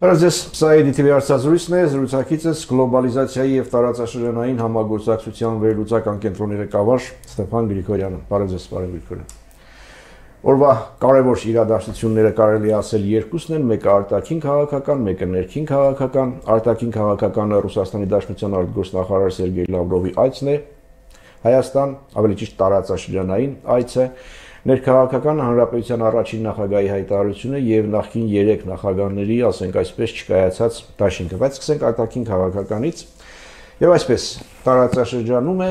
Բարև սա EDTV հարցազրույցն է, զրուցակիցս գլոբալիզացիայի եւ տարածաշրջանային համագործակցության վերլուծական կենտրոնի ղեկավար Ստեփան Գրիգորյանը։ Բարև Գրիգորյան։ Օրվա կարևոր իրադարձությունները կարելի ասել երկուսն են, մեկը արտաքին քաղաքական, մեկը ներքին քաղաքական։ Արտաքին քաղաքականը Ռուսաստանի Դաշնության արտգործնախարար Սերգեյ Լավրովի այցն է Հայաստան, ավելի ճիշտ տարածաշրջանային այց է։ Ներքաղաքական հանրապետության առաջին նախագահի հայտարարությունը եւ նախկին 3 նախագահների, ասենք այսպես, չկայացած դաշինքը, բայց սկսենք արտաքին քաղաքականից եւ այսպես տարածաշրջանում է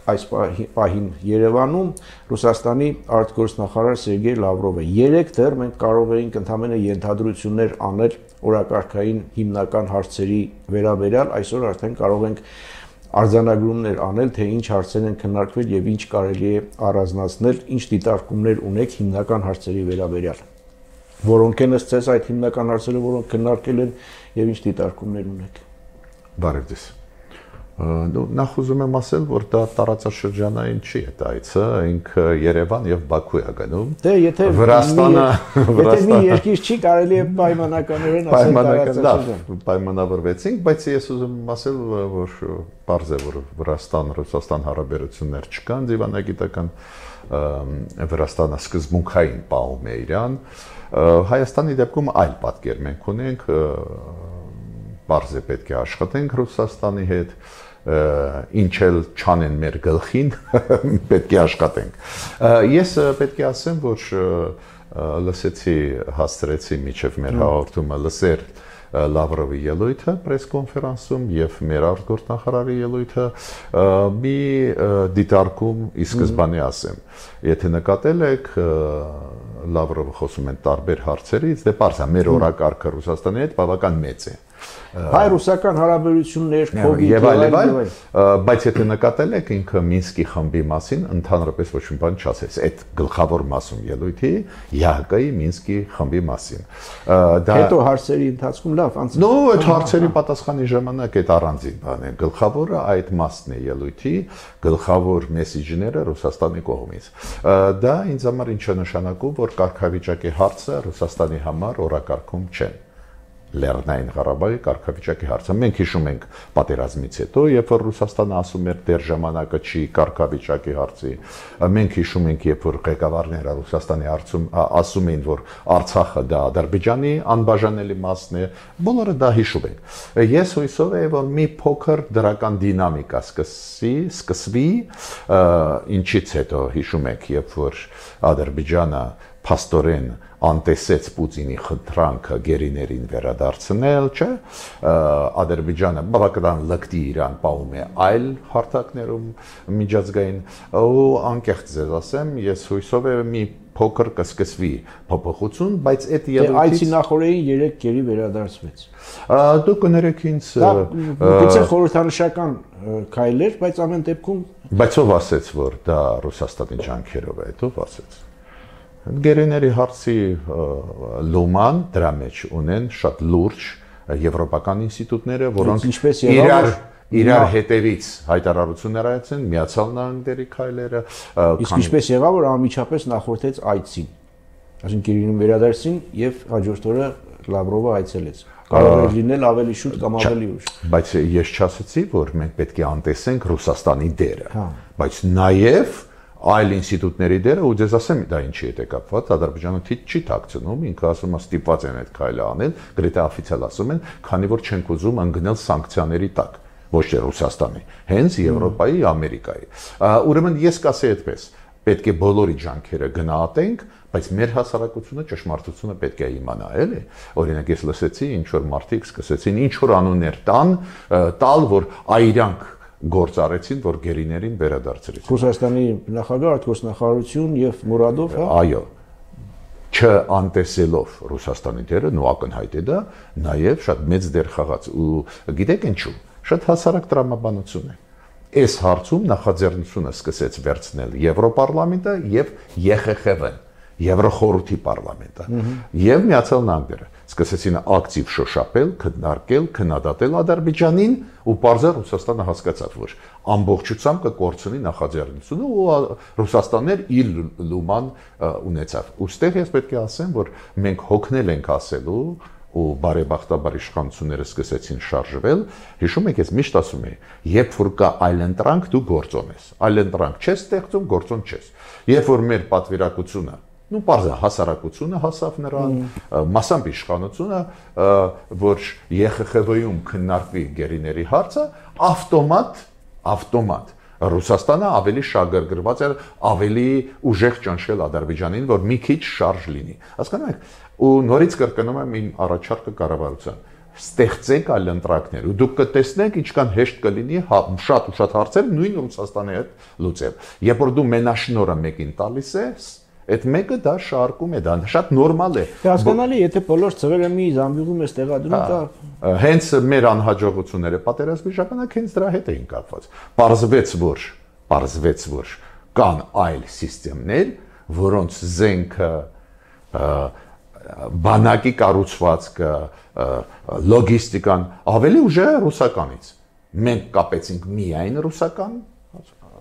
այս պահին Երևանում Ռուսաստանի արտգործնախարար Սերգեյ Լավրովը 3 դեռ մենք կարող էինք ընդհանրապես ենթադրություններ անել օրակարգային հիմնական հարցերի վերաբերյալ, այսօր արդեն կարող ենք արձանագրումներ անել, թե ինչ հարցեր են քննարկվել եւ ինչ կարելի է առանձնացնել, ինչ դիտարկումներ ունեք հիմնական հարցերի վերաբերյալ։ Որոնք են ըստ ձեզ այդ հիմնական հարցերը, որոնք քննարկել են եւ ինչ դիտարկումներ ունեք։ Բարև ձեզ։ Նախ ուզում եմ ասել, որ դա տարածաշրջանային չի այդ այցը, ինքը Երևան եւ Բաքու է գնում։ Դե եթե Վրաստանը մի երկիր չի, կարելի է պայմանականորեն ասել տարածաշրջան։ Պայմանավորվեցինք, բայց ես ուզում եմ ասել, որ պարզ է, որ Վրաստան-Ռուսաստան հարաբերություններ չկան, դիվանագիտական Վրաստանը սկզբունքային պահում է իրան։ Հայաստանի դեպքում այլ պատկեր մենք ունենք, պարզ է պետք է աշխատենք Ռուսաստանի հետ, ինչ էլ չանեն մեր գլխին, պետք է աշխատենք։ Ես պետք է ասեմ, որ լսեցի, հասցրեցի միջև մեր հաղորդումը լսեր Լավրովի ելույթը պրես-կոնֆերանսում եւ մեր արտգործնախարարի ելույթը մի դիտարկում ի սկզբանե ասեմ։ Եթե նկատել եք Լավրովը խոսում են տարբեր հարցերից, դե պարզ է, մեր օրակարգը Ռուսաստանի հետ բավական մեծ է։ Հայ-ռուսական հարաբերություններ, եւ այլ, բայց եթե նկատել եք ինքը Մինսկի խմբի մասին ընդհանրապես ոչ մի բան չասեց, այդ գլխավոր մասում ելույթի ՀՀԿ-ի Մինսկի խմբի մասին։ Հետո հարցերի ընթացքում լավ, Նո, այդ հարցերի պատասխանի ժամանակ այդ առանձին բան է։ Գլխավորը այդ մասն է ելույթի, գլխավոր մեսեջները Ռուսաստանի կողմից։ Դա ինձ համար ինչ է նշանակում, որ կարգավիճակի հարցը Ռուսաստանի համար օրակարգում չեն։ Լեռնային Ղարաբաղի կարգավիճակի հարցը։ Մենք հիշում ենք պատերազմից հետո, երբ որ Ռուսաստանը ասում էր դեռ ժամանակը չի կարգավիճակի հարցի, մենք հիշում ենք, երբ որ ղեկավարները Ռուսաստանի ասում էին, որ Արցախը դա Ադրբեջանի անբաժանելի մասն է, բոլորը դա հիշում են։ Ես հույսով եմ, որ մի փոքր դրական դինամիկա սկսվի, ինչից հետո հիշում եք, երբ որ Ադրբեջանը փաստորեն անտեսեց Պուտինի խնդրանքը գերիներին վերադարձնել, չէ՞։ Ադրբեջանը բավական լկտի իրան պահում է այլ հարթակներում միջազգային, ու անկեղծ ձեզ ասեմ, ես հույսով եմ մի փոքր կսկսվի փոփոխություն, բայց այդ ելույթից այցի նախորդին 3 գերի վերադարձվեց։ Դուք կներեք ինձ գուցե խորհրդանշական քայլեր, բայց ամեն դեպքում բայց ով ասեց, որ դա Ռուսաստանի ջանքերով է, ով ասեց։ Գերիների հարցի լոման դրա մեջ ունեն շատ լուրջ եվրոպական ինստիտուտները, որոնք իրար հետևից հայտարարություններ այցեն, Միացյալ Նահանգների քայլերը, իսկ ինչպես եղավ, որ անմիջապես նախորդեց այցին, այսինքն գերիներին վերադարձին եւ հաջորդ օրը Լավրովը այցելեց։ Կարող է լինել ավելի շուտ կամ ավելի ուշ։ Բայց ես չասացի, որ մենք պետք է անտեսենք Ռուսաստանի դերը, բայց նաեւ այլ ինստիտուտների դերը, ու ձեզ ասեմ դա ինչի հետ է կապված, Ադրբեջանը չի թաքցնում, ինքը ասում է ստիպված են այդ քայլը անել, գրեթե օֆիցիալ ասում են, քանի որ չենք ուզում ընկնել սանկցիաների տակ, ոչ թե Ռուսաստանի, հենց Եվրոպայի, Ամերիկայի։ Ուրեմն ես կասեի այդպես, պետք է բոլորի ջանքերը գնահատենք, բայց մեր հասարակությունը ճշմարտությունը պետք է իմանա, էլի։ Օրինակ ես լսեցի, ինչ որ մարդիկ սկսեցին ինչ որ անուններ տալ, որ այրանք գործ արեցին, որ գերիներին վերադարձրեցին։ Ռուսաստանի նախագահ, արտգործնախարարություն եւ Մուրադով, հա։ Այո։ Չանտեսելով Ռուսաստանի դերը, նո ակնհայտ է դա, նաեւ շատ մեծ դեր խաղաց ու գիտեք ինչու, շատ հասարակ տրամաբանություն է։ Այս հարցում նախաձեռնությունը սկսեց վերցնել Եվրոպարլամենտը եւ ԵԽԽՎ-ն, Եվրոխորհրդի պարլամենտը եւ Միացյալ Նահանգները սկսեցին ակտիվ շոշափել, քննարկել, քննադատել Ադրբեջանին ու պարզը Ռուսաստանը հասկացավ, որ ամբողջությամբ կկորցնի նախաձեռնությունը ու Ռուսաստանն էր իր լուման ունեցավ։ Ոստեղ ես պետք է ասեմ, որ մենք հոգնել ենք ասելու ու բարեբախտաբար իշխանությունները սկսեցին շարժվել, հիշում եք, ես միշտ ասում եմ, երբ որ կա այլընտրանք, դու գործոն ես, այլընտրանք չես ստեղծում, գործոն չես։ Երբ որ մեր պատվիրակությունը, պարզ է, հասարակությունը հասավ նրան, մասամբ իշխանությունը, որ ԵԽԽՎ-ում քննարկվի գերիների հարցը, ավտոմատ Ռուսաստանը ավելի շահագրգռված էր, ավելի ուժեղ ճնշել Ադրբեջանին, որ մի քիչ շարժ լինի։ Հասկանում եք, ու նորից կրկնում եմ իմ առաջարկը կառավարության։ Ստեղծեք այլընտրանքներ, ու դուք կտեսնեք ինչքան հեշտ կլինի շատ ու շատ հարցեր նույն Ռուսաստանի հետ լուծել։ Երբ որ դու մենաշնորհը մեկին տալիս ես, այդ մեկը դա շարքում է, դա շատ նորմալ է։ Հասկանալի, եթե բոլոր ծղերը մի զամբյուղում ես տեղադրում, դա հենց մեր անհաջողությունները պատերազմի ժամանակ հենց դրա հետ էին կապված։ Պարզվեց, որ կան այլ համակարգեր, որոնց զենքը, բանակի կառուցվածքը, լոգիստիկան ավելի ուժեղ է ռուսականից։ Մենք կապեցինք միայն ռուսական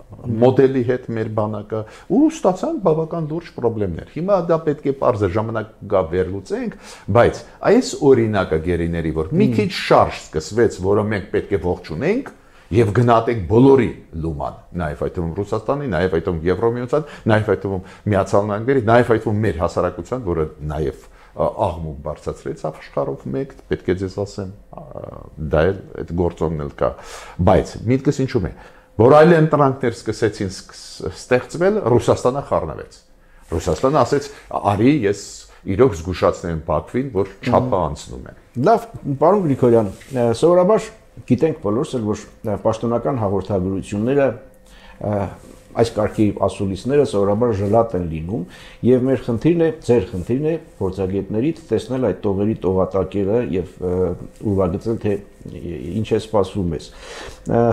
մոդելի հետ մեր բանակը ու ստացանք բավական լուրջ խնդիրներ։ Հիմա դա պետք է պարզ է ժամանակ գա վերլուծենք, բայց այս օրինակը գերիների, որ մի քիչ շարժ սկսվեց, որը մենք պետք է ողջունենք եւ գնահատենք բոլորի լուման, նաեւ այդ թվում Ռուսաստանի, նաեւ այդ թվում Եվրոմիության, նաեւ այդ թվում Միացյալ Նահանգների, նաեւ այդ թվում մեր հասարակության, որը նաեւ աղմուկ բարձրացրեց աշխարհով մեկ, պետք է ձեզ ասեմ, դա էլ այդ գործոնն էլ կա, բայց միտքս ինչու՞մ է, որ այլ ընտրանքներ սկսեցին ստեղծվել, Ռուսաստանը խառնվեց։ Ռուսաստանը ասեց, արի ես իրոք զգուշացնեմ Բաքվին, որ չափը անցնում է։ Լավ, պարոն Գրիգորյան, սովորաբար գիտենք բոլորս էլ, որ պաշտոնական հաղորդագրությունները այս կարգի ասուլիսները սովորաբար ժլատ են լինում եւ մեր խնդիրն է, ձեր խնդիրն է փորձագետներից տեսնել այդ տողերի տողատակերը եւ ուրվագծել թե ինչ է սպասվում մեզ։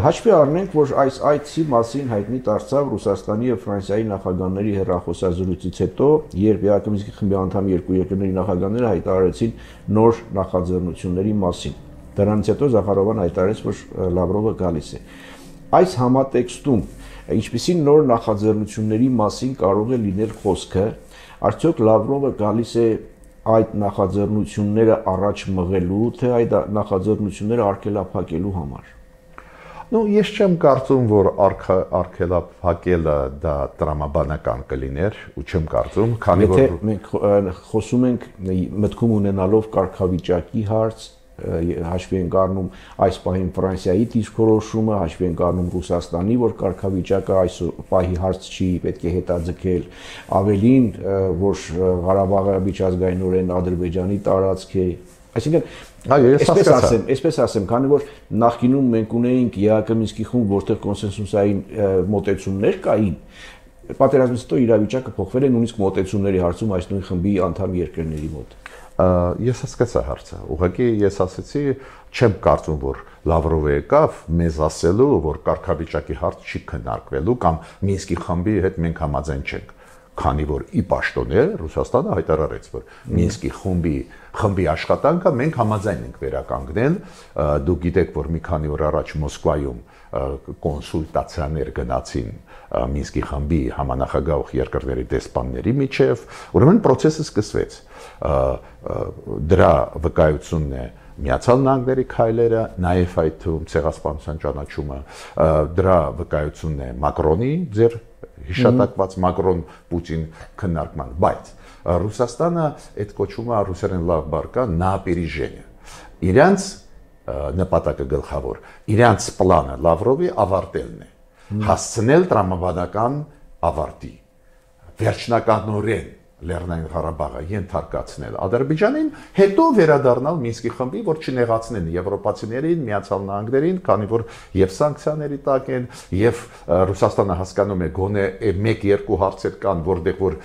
Հաշվի առնենք, որ այս այցի մասին հայտնի դարձավ Ռուսաստանի եւ Ֆրանսիայի նախագահների հեռախոսազրույցից հետո, երբ ԵԱԿ-ի խմբի անդամ երկու երկրների նախագահները հայտարարեցին նոր նախաձեռնությունների մասին։ Դրանից հետո Զախարովան հայտարարեց, որ Լավրովը գալիս է։ Այս համատեքստում ինչպիսի նոր նախաձեռնությունների մասին կարող է լինել խոսքը, արդյոք Լավրովը գալիս է այդ նախաձեռնությունները առաջ մղելու, թե այդ նախաձեռնությունները արգելափակելու համար։ Ես չեմ կարծում, որ արգելափակելը դա տրամաբանական կլիներ, ու չեմ կարծում, քանի որ մենք խոսում ենք մտքում ունենալով կարգավիճակի հարց, հաշվի ենք առնում այս պահին Ֆրանսիայի դիսկորոշումը, հաշվի ենք առնում Ռուսաստանի, որ կարգավիճակը այս պահի հարց չի, պետք է հետաձգել, ավելին, որ Ղարաբաղը միջազգայինորեն Ադրբեջանի տարածք է, այսինքն այսպես ասեմ, քանի որ նախկինում մենք ունեինք ԵԱԿ-ի խումբ, որտեղ կոնսենսուսային մոտեցումներ կային, պատերազմից հետո իրավիճակը փոխվել է նույնիսկ մոտեցումների հարցում այս նույն խմբի անդամ երկրների մոտ։ Ես հասկացա հարցը, ուղղակի ես ասացի, չեմ կարծում, որ Լավրովը եկավ մեզ ասելու, որ կարգավիճակի հարց չի քննարկվելու կամ Մինսկի խմբի հետ մենք համաձայն չենք, քանի որ ի պաշտոնե Ռուսաստանը հայտարարեց, որ Մինսկի խմբի աշխատանքը մենք համաձայն ենք վերականգնել, դուք գիտեք, որ մի քանի օր առաջ Մոսկվայում կոնսուլտացիաներ գնացին Մինսկի խմբի համանախագահող երկրների դեսպանների միջև, ուրեմն process-ը սկսվեց։ Դրա վկայությունն է Միացյալ Նահանգների քայլերը, նաև այդ թվում ցեղասպանության ճանաչումը, դրա վկայությունն է Մակրոնի ձեր հիշատակված Մակրոն-Պուտին քննարկման, բայց Ռուսաստանը այդ կոչումը ռուսերեն լավ բառ նապերիժենիա։ Իրանց նպատակը գլխավոր, իրանց պլանը Լավրովի ավարտելն է, հասցնել տրամաբանական ավարտի, վերջնականորեն Լեռնային Ղարաբաղը ենթարկացնել Ադրբեջանին, հետո վերադառնալ Մինսկի խմբի, որ չնեղացնեն եվրոպացիներին, Միացյալ Նահանգներին, քանի որ եւ սանկցիաների տակ են, եւ Ռուսաստանը հասկանում է գոնե 1-2 հարցեր կան, որտեղ որ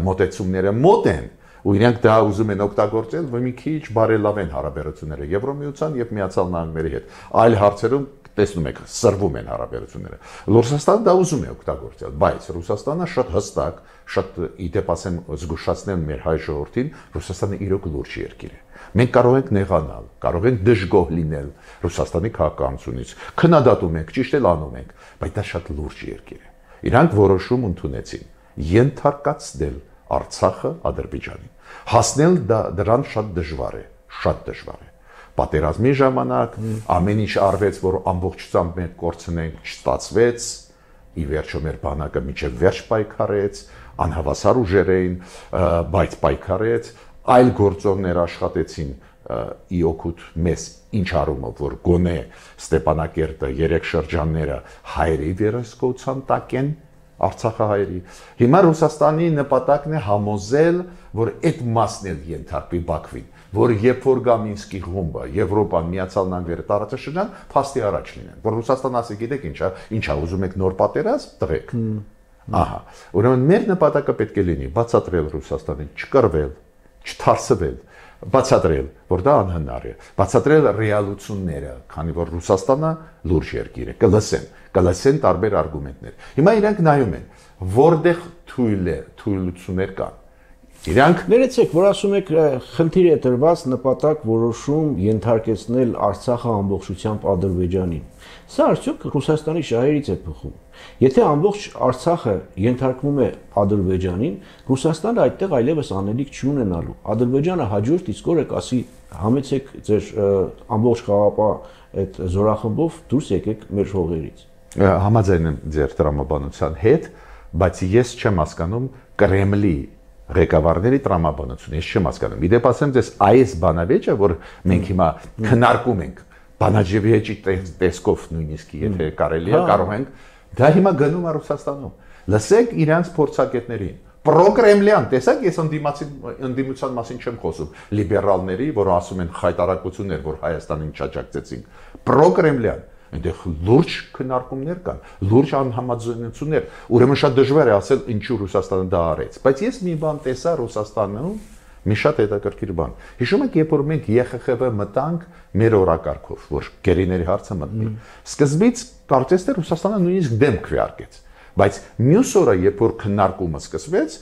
մոտեցումները մոտ են, ու իրենք դա ուզում են օգտագործել, որ մի քիչ բարելավեն հարաբերությունները Եվրոմիության եւ Միացյալ Նահանգների հետ։ Այլ հարցերում տեսնում եք, սրվում են հարաբերությունները։ Ռուսաստանը դա ուզում է օգտագործել, բայց Ռուսաստանը շատ հստակ, շատ իդեպ ասեմ զգուշացնել մեր հայ ժողովրդին, Ռուսաստանը իրոք լուրջ երկիր է։ Մենք կարող ենք նեղանալ, կարող ենք դժգոհ լինել Ռուսաստանի քաղաքականությունից, քննադատում ենք, ճիշտ էլ անում ենք, բայց դա շատ լուրջ երկիր է։ Իրանք որոշում ընդունեցին ենթարկացնել Արցախը Ադրբեջանին։ Հասնել դրան շատ դժվար է, շատ դժվար է։ Պատերազմի ժամանակ ամեն ինչ արվեց, որ ամբողջությամբ մենք կորցնենք, չստացվեց, ի վերջո մեր բանակը մինչև վերջ պայքարեց, անհավասար ուժեր էին, բայց պայքարեց, այլ գործոններ աշխատեցին ի օգուտ մեզ ինչ առումով, որ գոնե Ստեփանակերտը, 3 շրջանները հայերի վերահսկողության տակ են, Արցախահայերի։ Հիմա Ռուսաստանի նպատակն է համոզել, որ այդ մասն էլ ենթարկվի Բաքվին, որ երբ որ գա Մինսկի խումբը, Եվրոպան, Միացյալ Նահանգները, տարածաշրջան, փաստի առաջ լինեն։ Որ Ռուսաստանը ասի, գիտեք ինչա, ուզում եք նոր պատերազմ, տղեք։ Ահա, ուրեմն մեր նպատակը պետք է լինի բացատրել Ռուսաստանին, չկռվել, չթարսվել, բացատրել, որ դա անհնար է, բացատրել ռեալությունները, քանի որ Ռուսաստանը լուրջ երկիր է, կլսեն տարբեր արգումենտներ։ Հիմա իրանք նայում են, որտեղ թույլություններ կան։ Իրանք ներեցեք, որ ասում եք խնդիր է տրված նպատակ որոշում ենթարկեցնել Արցախը ամբողջությամբ Ադրբեջանին։ Սա արդյոք Ռուսաստանի շահերից է բխում։ Եթե ամբողջ Արցախը ենթարկվում է Ադրբեջանին, Ռուսաստանը այդտեղ այլևս անելիք չի ունենալու։ Ադրբեջանը հաջորդ իսկ օրը կասի համեցեք ձեր ամբողջ խաղապահ այդ զորախմբով դուրս եկեք մեր հողերից։ Համաձայն եմ ձեր տրամաբանության հետ, բայց ես չեմ հասկանում Կրեմլի ղեկավարների տրամաբանությունը, ես չեմ հասկանում։ Իդեպ ասեմ ձեզ, այս բանավեճը, որ մենք հիմա քննարկում ենք, բանաջեվիեջի տեսքով նույնիսկ եթե կարելի է, կարող ենք, դա հիմա գնում է Ռուսաստանում։ Լսեք իրանց փորձագետներին։ Պրոկրեմլյան, տեսեք, ես ընդդիմության մասին չեմ խոսում, լիբերալների, որ ասում են խայտարակություններ, որ Հայաստանին չաջակցեցին։ Պրոկրեմլյան, այնտեղ լուրջ քննարկումներ կան, լուրջ անհամաձայնություններ, ուրեմն շատ դժվար է ասել ինչու Ռուսաստանը դա արեց, բայց ես մի բան տեսա Ռուսաստանում, մի շատ հետաքրքիր բան։ Հիշում եք, երբ որ մենք ԵԽԽՎ մտանք մեր օրակարգով, որ գերիների հարցը մտնի։ Սկզբից կարծես թե Ռուսաստանը նույնիսկ դեմ քվեարկեց, բայց մյուս օրը, երբ որ քննարկումը սկսվեց,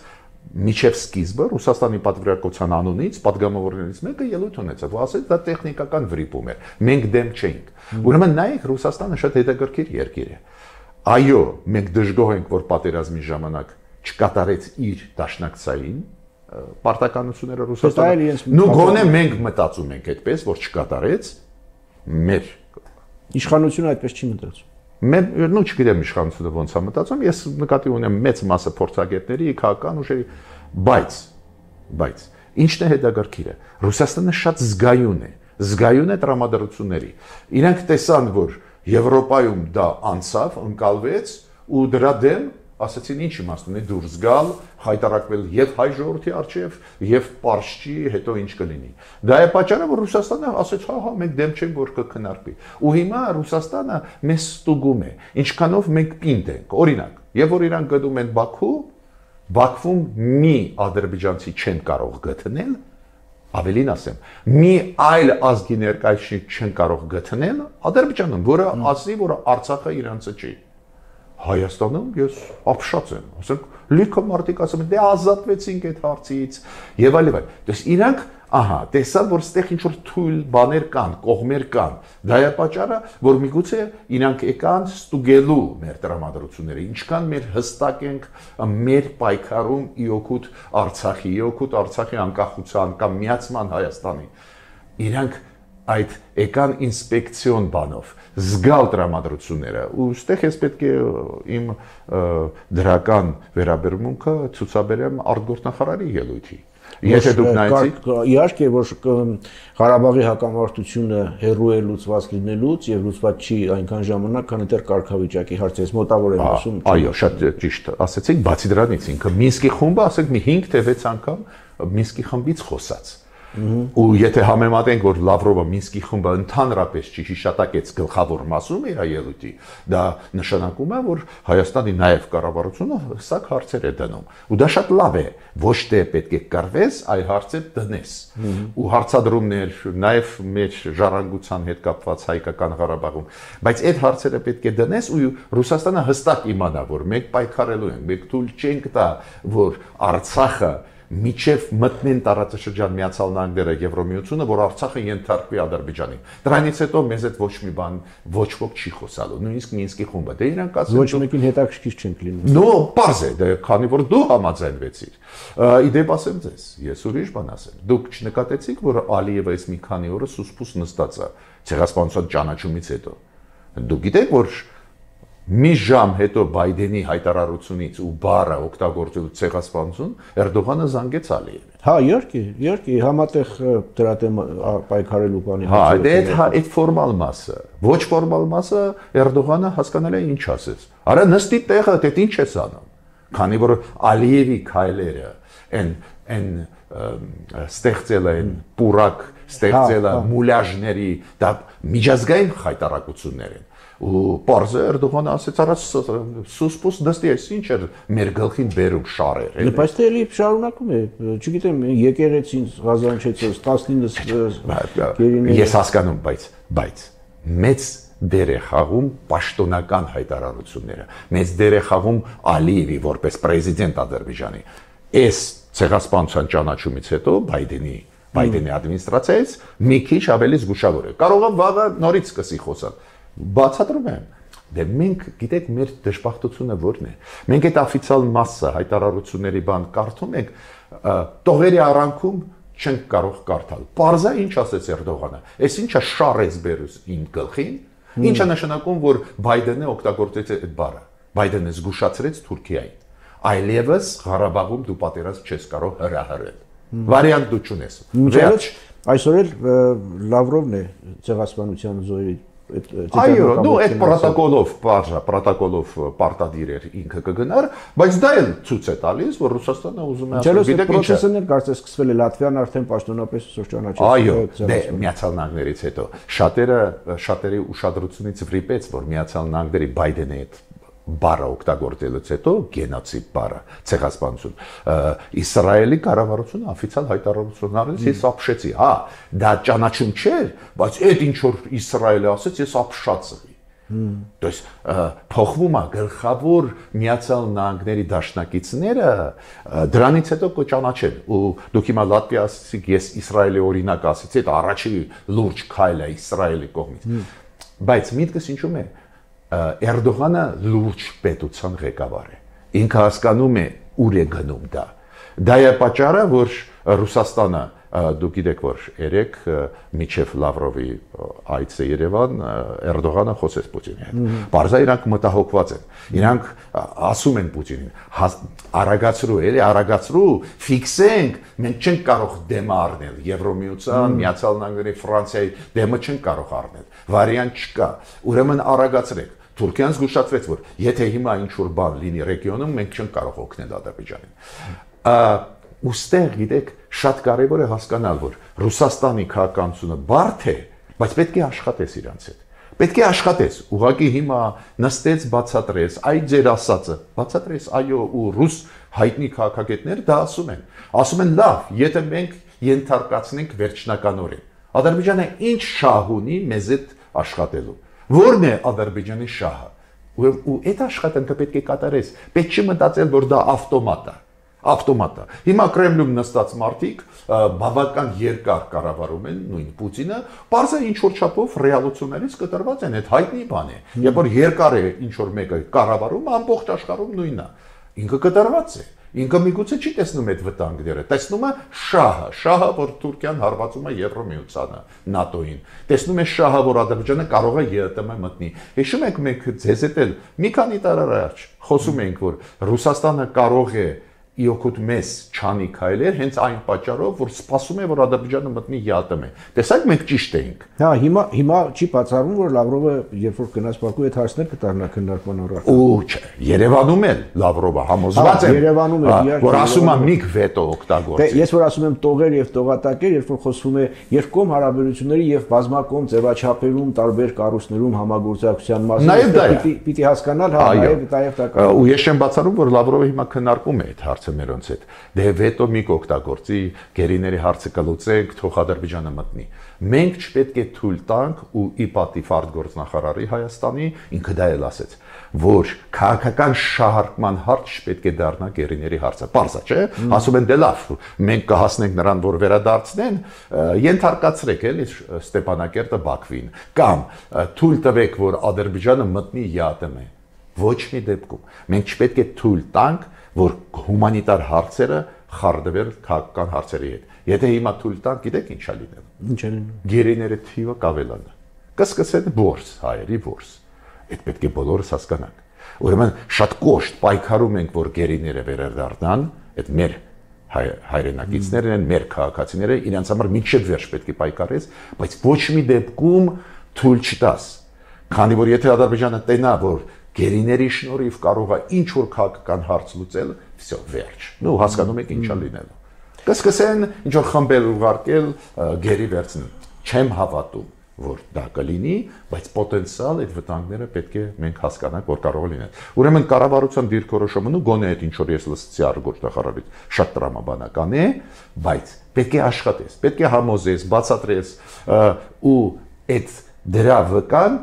միջև սկիզբը Ռուսաստանի պատվիրակության անունից падգամավորներից մեկը ելույթ ունեցավ, որ ասեց դա տեխնիկական վրիպում էր, մենք դեմ չէինք։ Ուրեմն նայեք, Ռուսաստանը շատ հետաքրքիր երկիր է։ Այո, մենք դժգոհ ենք, որ պատերազմի ժամանակ չկատարեց իր դաշնակցային պարտականությունները Ռուսաստանը։ Նու գոնե մենք մտածում ենք այդպես, որ չկատարեց, մեր իշխանությունը այդպես չի մտածում։ Նու չգիտեմ իշխանությունը ոնց է մտածում, ես նկատի ունեմ մեծ մասը փորձագետների, քաղաքական ուժերի, բայց ինչն է հետաքրքիրը, Ռուսաստանը շատ զգայուն է տրամադրությունների։ Իրանք տեսան, որ Եվրոպայում դա անցավ, ընկալվեց ու դրա դեմ ասացին ինչ իմաստ ունի դուրս գալ, հայտարարվել եւ հայ ժողովրդի արչեւ եւ պարշչի հետո ինչ կլինի։ Դա է պատճառը, որ Ռուսաստանը ասեց, հա, մենք դեմ չենք, որ կքննարկվի։ Ու հիմա Ռուսաստանը մեզ ստուգում է, ինչքանով մենք պինդ ենք։ Օրինակ, եւ որ իրանք գտնում են Բաքվում մի ադրբեջանցի չեն կարող գտնել, ավելին ասեմ, մի այլ ազգի ներկայացուցիչ չեն կարող գտնել Ադրբեջանում, որը ասի, որ Արցախը իրանցը չի։ Հայաստանում ես ապշած եմ, ասենք լիքը մարդիկ ասում են, դե ազատվեցինք այդ հարցից եւ այլն։ Դες իրանք, ահա, տեսան, որ ստեղ ինչ որ թույլ բաներ կան, կողմեր կան։ Դա է պատճառը, որ միգուցե իրանք եկան ստուգելու մեր տրամադրությունները, ինչքան մեր հստակ ենք մեր պայքարում ի օգուտ Արցախի, ի օգուտ Արցախի անկախության կամ միացման Հայաստանի։ Իրանք այդ եկան ինսպեկցիոն բանով զգալ տրամադրությունները ու ստեղ ես պետք է իմ դրական վերաբերմունքը ցուցաբերեմ արտգործնախարարի ելույթի։ Եթե դուք նայեցիք, իհարկե որ Ղարաբաղի հակամարտությունը հերոյ է լուծված լինելուց եւ լուծված չի այնքան ժամանակ, քան դեռ կարգավիճակի հարցերից մոտավոր եմ ասում։ Այո, շատ ճիշտ ասեցիք, բացի դրանից ինքը Մինսկի խումբը, ասենք մի 5 թե 6 անգամ Մինսկի խմբից խոսած։ Ու եթե համեմատենք, որ Լավրովը Մինսկի խումբը ընդհանրապես չհիշատակեց գլխավոր մասում իր ելույթի, դա նշանակում է, որ Հայաստանի նաև կառավարությունը հստակ հարցեր է դնում։ Ու դա շատ լավ է, ոչ թե պետք է կռվես, այլ հարցեր դնես։ Ու հարցադրումներ նաև մեր ժառանգության հետ կապված Հայկական Ղարաբաղում, բայց այդ հարցերը պետք է դնես ու Ռուսաստանը հստակ իմանա, որ մենք պայքարելու ենք, մենք թույլ չենք տա, որ Արցախը միջև մտնեն տարածաշրջան Միացյալ Նահանգները Եվրոմիությունը, որ Արցախը ենթարկվի Ադրբեջանին։ Դրանից հետո մեզ այդ ոչ մի բան ոչ ոք չի խոսալու, նույնիսկ Մինսկի խումբը։ Դե իրանք ասեն ոչ մեկին հետաքրքիր չենք լինում։ Նո, պարզ է, դե քանի որ դու համաձայնվեցիր։ Իդեպ ասեմ ձեզ, ես ուրիշ բան ասեմ։ Դուք չնկատեցիք, որ Ալիևը այս մի քանի օրը սուսպուս նստած է ցեղասպանության ճանաչումից հետո։ Դուք գիտեք, որ մի ժամ հետո Բայդենի հայտարարությունից ու բառը օգտագործելու ցեղասպանություն Էրդողանը զանգեց Ալիևին։ Հա, իհարկե, համատեղ դրա դեմ պայքարելու բանի։ Հա, այդ ֆորմալ մասը, ոչ ֆորմալ մասը Էրդողանը հասկանալի է ինչ ասեց։ Արա նստի տեղը, դե ինչ ես անում։ Քանի որ Ալիևի քայլերը այն ստեղծել են պուրակ, ստեղծել է մուլաժների, դա միջազգային հայտարարություններ են։ Ու պարզը Էրդողանը ասեց առաջ սուսպուս դստի էս ինչ էր մեր գլխին բերում շարեր էլի։ Բայց դե էլի շարունակում է, չգիտեմ, եկեղեցին Ղազանչեցոս 19 գերիներ։ Ես հասկանում, բայց մեծ դեր է խաղում պաշտոնական հայտարարությունները։ Մեծ դեր է խաղում Ալիևի որպես պրեզիդենտ Ադրբեջանի։ Այս ցեղասպանության ճանաչումից հետո Բայդենի ադմինիստրացիայից մի քիչ ավելի զգուշավոր է։ Կարող է վաղը նորից սկսի խոսալ։ Բացատրում եմ, դե մենք գիտեք մեր դժբախտությունը որն է։ Մենք այդ օֆիցիալ մասը հայտարարությունների բան կարդում ենք, տողերի արանքում չենք կարող կարդալ։ Պարզա ինչ ասեց Էրդողանը։ Այս ինչա շարեց բերուս իմ գլխին, ինչա նշանակում, որ Բայդենը օգտագործեց այդ բառը։ Բայդենը զգուշացրեց Թուրքիային։ Այլևս Ղարաբաղում դու պատերազմ չես կարող հրահրել։ Վարիանտ դու չունես։ Վերջ այսօր էլ Լավրովն է ցեղասպանության զոհերի Այո, դու այդ պրոտոկոլով պարտադիր էր ինքը կգնար, բայց դա էլ ցույց է տալիս, որ Ռուսաստանը ուզում է ասել, գիտեք ինչ է։ Պրոցեսն էլ կարծես սկսվել է Լատվիան արդեն պաշտոնապես ճանաչեց։ Այո, դե Միացյալ Նահանգներից հետո շատերի ուշադրությունից վրիպեց, որ Միացյալ Նահանգների Բայդենի հետ բառը օգտագործելուց հետո գենոցիդ բառը, ցեղասպանություն, Իսրայելի կառավարությունը օֆիցիալ հայտարարություն արեց, ես ապշեցի, հա, դա ճանաչում չէր, բայց այդ ինչ որ Իսրայելը ասեց, ես ապշացի։ То есть փոխվում է գլխավոր Միացյալ Նահանգների դաշնակիցները դրանից հետո կճանաչեն ու դուք հիմա Լատվիա ասեցիք, ես Իսրայելի օրինակ ասեցի, դա առաջի լուրջ քայլ է Իսրայելի կողմից։ Բայց միտքս ինչու՞մ է Էրդողանը լուրջ պետության ղեկավար է։ Ինքը հասկանում է ուր է գնում դա։ Դա է պատճառը, որ Ռուսաստանը, դուք գիտեք, որ երեք միջև Լավրովի այցը Երևան Էրդողանը խոսեց Պուտինի հետ։ Բարձա իրանք մտահոգված են։ Իրանք ասում են Պուտինին, արագացրու, ֆիքսենք, մենք չենք կարող դեմը առնել Եվրոմիության, Միացյալ Նահանգների, Ֆրանսիայի դեմը չենք կարող առնել։ Վարիանտ չկա։ Ուրեմն արագացրեք։ Թուրքիան զգուշացրեց, որ եթե հիմա ինչ-որ բան լինի ռեգիոնում, մենք չենք կարող օգնել Ադրբեջանին։ Ուստեղ գիտեք, շատ կարևոր է հասկանալ, որ Ռուսաստանի քաղաքականությունը բարդ է, բայց պետք է աշխատես իրանց հետ։ Պետք է աշխատես, ուղղակի հիմա նստեց բացատրես, այ ձեր ասածը, բացատրես, այո, ու ռուս հայտնի քաղաքագետներ դա ասում են։ Ասում են լավ, եթե մենք ենթարկացնենք վերջնականորեն։ Ադրբեջանը ինչ շահ ունի մեզ հետ աշխատելու։ Որն է Ադրբեջանի շահը։ Ու այդ աշխատանքը պետք է կատարես։ Պետք չի մտածել, որ դա ավտոմատ է։ Հիմա Կրեմլում նստած մարդիկ բավական երկար կառավարում են նույն Պուտինը, բարձր ինչ որ չափով ռեալություններից կտրված են, այդ հայտնի բան է։ Երբ որ երկար է ինչ որ մեկը կառավարում, ամբողջ աշխարհում նույնն է։ Ինքը կտրված է։ Ինքը միգուցե չի տեսնում այդ վտանգները, տեսնում է շահը, որ Թուրքիան հարվածում է Եվրոմիությանը, ՆԱՏՕ-ին, տեսնում է շահը, որ Ադրբեջանը կարող է ԵՏՄ մտնի։ Հիշում եք մենք ձեզ հետ էլ մի քանի տարի առաջ խոսում էինք, որ Ռուսաստանը կարող է իօքուտ մեզ չանի քայլեր հենց այն պատճառով, որ սպասում է, որ Ադրբեջանը մտնի ԵԱՏՄ։ Տեսեք, մենք ճիշտ էինք։ Հա, հիմա չի բացառվում, որ Լավրովը երբ որ գնաց Բաքու այդ հարցներ կտառնա քննարկման առաջ։ Ու չէ, Երևանում էլ Լավրովը համոզված է, Երևանում էլ որ ասում է միք վետո օգտագործի։ Դե ես որ ասում եմ տողեր եւ տողատակեր, երբ որ խոսվում է երկկողմ հարաբերությունների եւ բազմակողմ ձևաչափերում, տարբեր կառույցներում համագործակցության մասին, պիտի հասկանալ, հա, նաեւ դա կա։ Ու ես չեմ բացառում, որ Լավրովը հիմա քննարկում է այդ հարցը մերոնց հետ։ Դե վետո մի կօգտագործի, գերիների հարցը կլուծենք, թող Ադրբեջանը մտնի։ Մենք չպետք է թույլ տանք ու ի պատիվ արտգործնախարարի Հայաստանի ինքը դա էլ ասեց։ որ քաղաքական շահարկման հարց պետք է դառնա գերիների հարցը։ Պարզ է, չէ՞։ Ասում են դե լավ, մենք կհասնենք նրան, որ վերադարձնեն, ենթարկացրեք էլի Ստեփանակերտը Բաքվին, կամ թույլ տվեք, որ Ադրբեջանը մտնի ԵԱՏՄ։ Ոչ մի դեպքում։ Մենք չպետք է թույլ տանք, որ հումանիտար հարցերը խառնվեն քաղաքական հարցերի հետ։ Եթե հիմա թույլ տանք, գիտեք ինչ է լինելու։ Ինչ է լինելու։ Գերիների թիվը կավելանա։ Կսկսեն որս, հայերի որս։ Այդ պետք է բոլորս հասկանանք։ Ուրեմն շատ կոշտ պայքարում ենք, որ գերիները վերադառնան, այդ մեր հայրենակիցներն են, մեր քաղաքացիները, իրենց համար միջև վերջ պետք է պայքարես, բայց ոչ մի դեպքում թույլ չտաս։ Քանի որ եթե Ադրբեջանը տենա, որ գերիների շնորհիվ կարող է ինչ որ քաղաքական հարց լուծել, վсё, վերջ։ Նու հասկանում եք ինչա լինելու։ Կսկսեն ինչ որ խմբեր ուղարկել գերի վերցնել։ Չեմ հավատում, որ դա կլինի, բայց պոտենցիալ այդ վտանգները պետք է մենք հասկանանք, որ կարող է լինել։ Ուրեմն կառավարության դիրքորոշումը ու գոնե այդ ինչ որ ես լսեցի արտգործնախարարից շատ տրամաբանական է, բայց պետք է աշխատես, պետք է համոզես, բացատրես ու այդ դրա վկան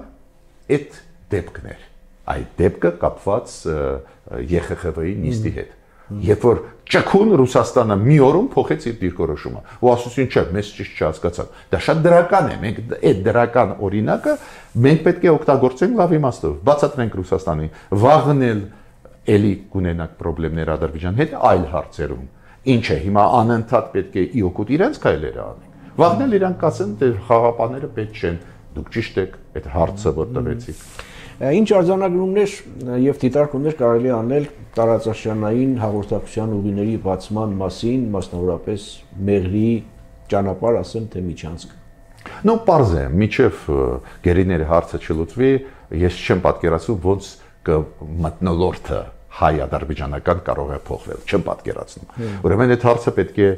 այդ դեպքներ։ Այդ դեպքը կապված ԵԽԽՎ-ի նիստի հետ։ Երբ որ ճկուն Ռուսաստանը մի օրում փոխեց իր դիրքորոշումը, ու ասեցին չէ, մեզ ճիշտ չհասկացան։ Դա շատ դրական է, մենք այդ դրական օրինակը մենք պետք է օգտագործենք լավ իմաստով, բացատրենք Ռուսաստանին, վաղնել էլի կունենանք խնդիրներ Ադրբեջանի հետ այլ հարցերում։ Ինչ է, հիմա անընդհատ պետք է իօկուտ իրենց քայլերը անենք։ Վաղնել իրանք կասեն, դե խաղապաները պետք չեն, դուք ճիշտ եք, այդ հարցը որ տվեցիք։ Ինչ արձանագրումներ եւ դիտարկումներ կարելի անել տարածաշրջանային հաղորդակցության ուղիների բացման մասին, մասնավորապես Մեղրի ճանապարհ, ասեմ թե միջանցք։ Ну, պարզ է, միջև գերիների հարցը չլուծվի, ես չեմ պատկերացնում ոնց կմթնոլորտը հայ-ադրբեջանական կարող է փոխվել, չեմ պատկերացնում։ Ուրեմն այդ հարցը պետք է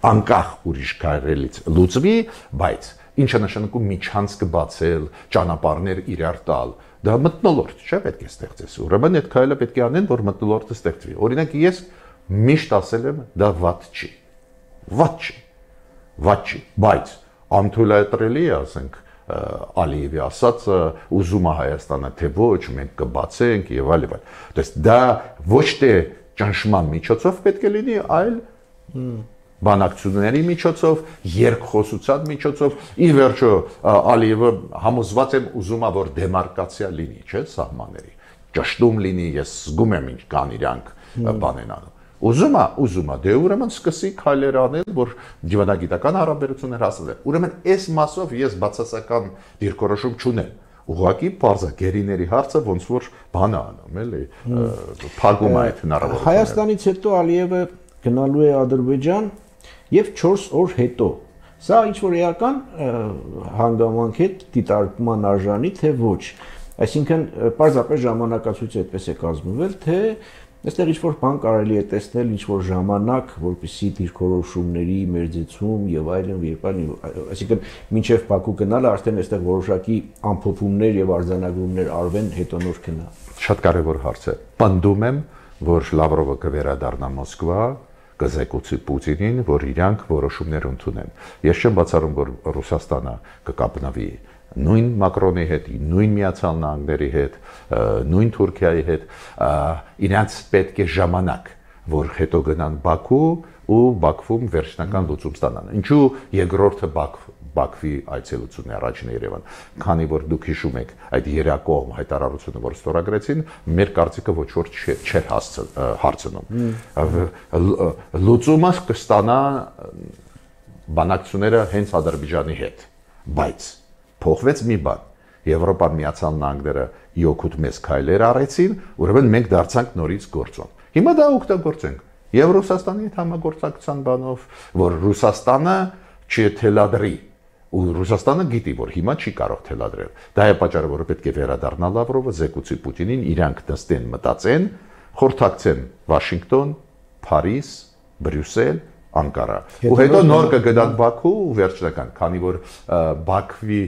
անկախ ուրիշ քայլերից լուծվի, բայց ինչը նշանակում միջանցք բացել, ճանապարհներ իրար տալ, դա մթնոլորտ չէ պետք է ստեղծես։ Ուրեմն այդ քայլը պետք է անեն, որ մթնոլորտը ստեղծվի։ Օրինակ ես միշտ ասել եմ, դա վատ չի։ Վատ չի։ Վատ չի, բայց անթույլատրելի է, ասենք, Ալիևի ասածը ուզում է Հայաստանը, թե ոչ, մենք կբացենք եւ այլ եւ այլ։ Դες դա ոչ թե ճնշման միջոցով պետք է լինի, այլ բանակցությունների միջոցով, երկխոսության միջոցով, ի վերջո Ալիևը համոզված եմ ուզում է որ դեմարկացիա լինի, չէ՞, սահմանների։ Ճշտում լինի, ես զգում եմ ինչ կան իրանք բան են անում։ Ուզում է, դե ուրեմն սկսի քայլեր անել, որ դիվանագիտական հարաբերություններ հասնեն։ Ուրեմն այս մասով ես բացասական դիրքորոշում չունեմ։ Ուղղակի բարձա գերիների հարցը ոնց որ բան է անում, էլի, փակում է այդ հնարավորությունը։ Հայաստանից հետո Ալիևը գնալու է Ադրբեջան եւ 4 օր հետո։ Սա ինչ որ էական հանգամանք է դիտարկման արժանի, թե ոչ։ Այսինքն պարզապես ժամանակացույցը այդպես է կազմվել, թե այստեղ ինչ որ բան կարելի է տեսնել, ինչ որ ժամանակ, որպեսզի դիրքորոշումների մերձեցում եւ այլն, երբ այլն, այսինքն մինչեւ Բաքու գնալը արդեն այստեղ որոշակի ամփոփումներ եւ արձանագրումներ արվեն, հետո նոր գնա։ Շատ կարեւոր հարց է։ Պնդում եմ, որ Լավրովը կվերադառնա Մոսկվա, կզեկուցի Պուտինին, որ իրանք որոշումներ ընդունեն։ Ես չեմ բացառում, որ Ռուսաստանը կկապնավի նույն Մակրոնի հետ, նույն Միացյալ Նահանգների հետ, նույն Թուրքիայի հետ, իրանց պետք է ժամանակ, որ հետո գնան Բաքու ու Բաքվում վերջնական լուծում ստանան։ Ինչու երկրորդը Բաքվի այցելությունն է առաջին Երևան, քանի որ դուք հիշում եք այդ երակողմ հայտարարությունը, որ ստորագրեցին, մեր կարծիքը ոչ որ չէր հարցնում։ Լուծումը կստանա բանակցությունները հենց Ադրբեջանի հետ, բայց փոխվեց մի բան։ Եվրոպան Միացյալ Նահանգները իօքուտ մեզ քայլեր արեցին, ուրեմն մենք դարձանք նորից գործոն։ Հիմա դա օգտագործենք։ Եվ Ռուսաստանի հետ համագործակցության բանով, որ Ռուսաստանը չթելադրի, ու Ռուսաստանը գիտի, որ հիմա չի կարող թելադրել։ Դա է պատճառը, որ պետք է վերադառնա Լավրովը, զեկուցի Պուտինին, իրանք նստեն, մտածեն, խորհրդակցեն Վաշինգտոն, Փարիզ, Բրյուսել, Անկարա։ Ու հետո նոր կգնան Բաքու ու վերջնական, քանի որ Բաքվի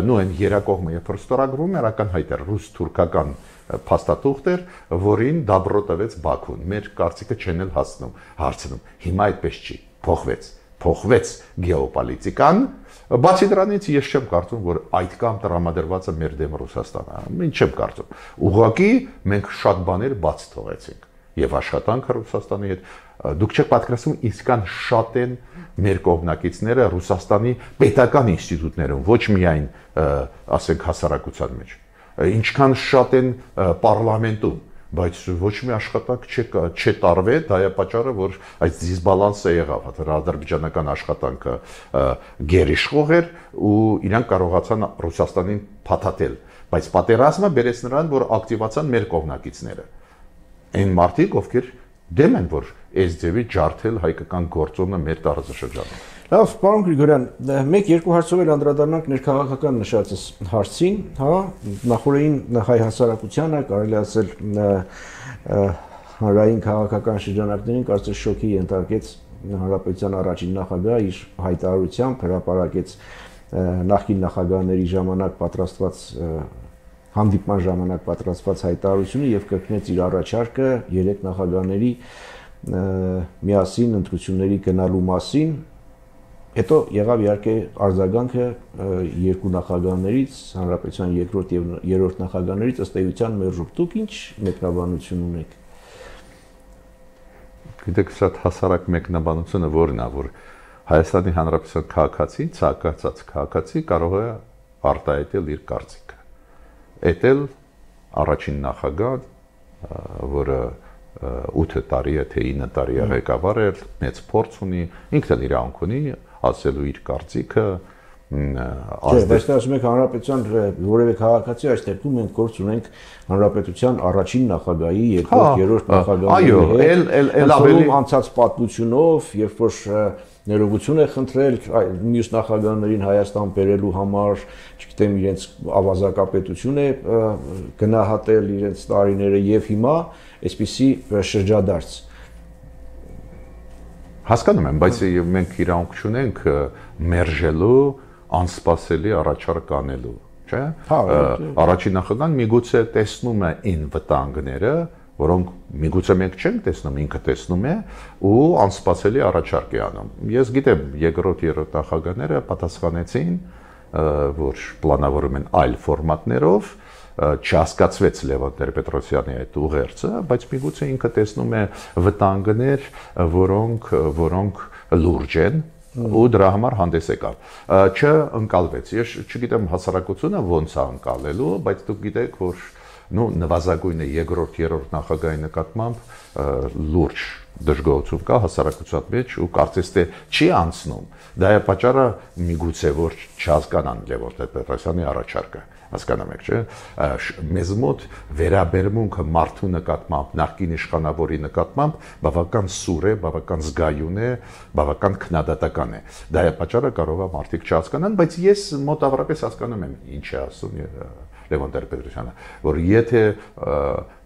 նույն երակողմը երբ որ ստորագրվում էր, ակնհայտ էր ռուս-թուրքական փաստաթուղթ էր, որին դաբրո տվեց Բաքուն։ Մեր կարծիքը չեն էլ հարցնում։ Հիմա այդպես չի, փոխվեց։ փոխվեց գեոպոլիտիկան, բացի դրանից ես չեմ կարծում, որ այդքան տրամադրված է մեր դեմ Ռուսաստանը։ Ինչ չեմ կարծում։ Ուղղակի մենք շատ բաներ բաց թողեցինք եւ աշխատանքը Ռուսաստանի հետ դուք չեք պատկերացնում իսկական շատ են մեր կողմնակիցները Ռուսաստանի պետական ինստիտուտներում, ոչ միայն ասենք հասարակության մեջ, ինչքան շատ են պարլամենտում, բայց ոչ մի աշխատանք չտարվեց, դա է պատճառը, որ այս դիսբալանսը եղավ, ադրբեջանական աշխատանքը գերիշխող էր ու իրանք կարողացան Ռուսաստանին փաթաթել, բայց պատերազմը բերեց նրան, որ ակտիվացան մեր կողմնակիցները։ Այն մարդիկ, ովքեր դեմ են, որ այս ձևի ջարդել հայկական գործոնը մեր տարածաշրջանում։ Լավ, պարոն Գրիգորյան, մեկ-երկու հարցով էլ անդրադառնանք ներքաղաքական նշածս հարցին, հա, նախորդին հայ հասարակությանը, կարելի ասել հանրային քաղաքական շրջանակներին կարծես շոկի ենթարկեց հանրապետության առաջին նախագահ իր հայտարարությամբ, հրապարակեց նախկին նախագահների ժամանակ պատրաստված հանդիպման ժամանակ պատրաստված հայտարարությունը եւ կրկնեց իր առաջարկը երեք նախագահների միասին ընտրությունների գնալու մասին։ Հետո եղավ իհարկե արձագանքը երկու նախագահներից, հանրապետության երկրորդ եւ երրորդ նախագահներից, ըստ էության մերժուկ։ Դուք ինչ մեկնաբանություն ունեք։ Գիտեք, շատ հասարակ մեկնաբանությունը որն է, որ Հայաստանի Հանրապետության քաղաքացին, ցանկացած քաղաքացի կարող է արտահայտել իր կարծիքը։ Էտել առաջին նախագահ, որը 8 տարի է, թե 9 տարի է ղեկավար էր, մեծ փորձ ունի, ինքն էլ իրավունք ունի ասելու իր կարծիքը, Բայց ասում եք հանրապետության որևէ քաղաքացի, այս դեպքում մենք գործ ունենք հանրապետության առաջին նախագահի, երկրորդ, երրորդ նախագահի հետ, ավելի անցած պատմությունով, երբ որ ներողություն է խնդրել մյուս նախագահներին Հայաստան բերելու համար, չգիտեմ, իրենց ավազակապետություն է գնահատել իրենց տարիները եւ հիմա այսպիսի շրջադարձ։ Հասկանում եմ, բայց մենք իրավունք չունենք մերժելու անսպասելի առաջարկ անելու, չէ՞։ Առաջին նախագահան միգուցե տեսնում է այն վտանգները, որոնք միգուցե մենք չենք տեսնում, ինքը տեսնում է ու անսպասելի առաջարկ է անում։ Ես գիտեմ, երկրորդ, երրորդ նախագահները պատասխանեցին, որ պլանավորում են այլ ֆորմատներով, չհասկացվեց Լևոն Տեր-Պետրոսյանի այդ ուղերձը, բայց միգուցե ինքը տեսնում է վտանգներ, որոնք լուրջ են ու դրա համար հանդես եկավ։ Չընկալվեց։ Ես չգիտեմ հասարակությունը ոնց է ընկալելու, բայց դուք գիտեք, որ նվազագույնը երկրորդ, երրորդ նախագահի նկատմամբ լուրջ դժգոհություն կա հասարակության մեջ ու կարծես թե չի անցնում։ Դա է պատճառը միգուցե որ չհասկանան Լևոն Տեր-Պետրոսյանի առաջարկը։ Հասկանում եք, չէ՞։ Մեզ մոտ վերաբերմունքը մարդու նկատմամբ, նախկին իշխանավորի նկատմամբ բավական սուր է, բավական զգայուն է, բավական քննադատական է։ Դա է պատճառը կարող է մարդիկ չհասկանան, բայց ես մոտավորապես հասկանում եմ ինչ է ասում Լևոն Տեր-Պետրոսյանը, որ եթե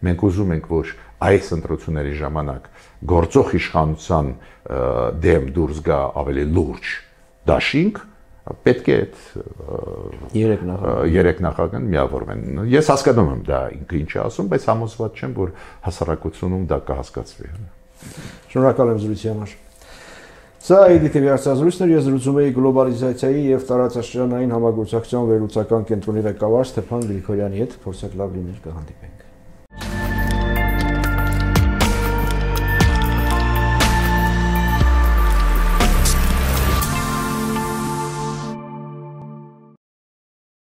մենք ուզում ենք, որ այս ընտրությունների ժամանակ գործող իշխանության դեմ դուրս գա ավելի լուրջ դաշինք, պետք է երեք նախագահան միավորվեն։ Ես հասկանում եմ դա ինքը ինչ է ասում, բայց համոզված չեմ, որ հասարակությունում դա կհասկացվի։ Շնորհակալ եմ զրույցի համար։ Սա IDTV հարցազրույցն էր, ես զրուցում էի գլոբալիզացիայի եւ տարածաշրջանային համագործակցության վերլուծական կենտրոնի ղեկավար Ստեփան Գրիգորյանի հետ, փորձեք լավ լինել, կհանդիպենք։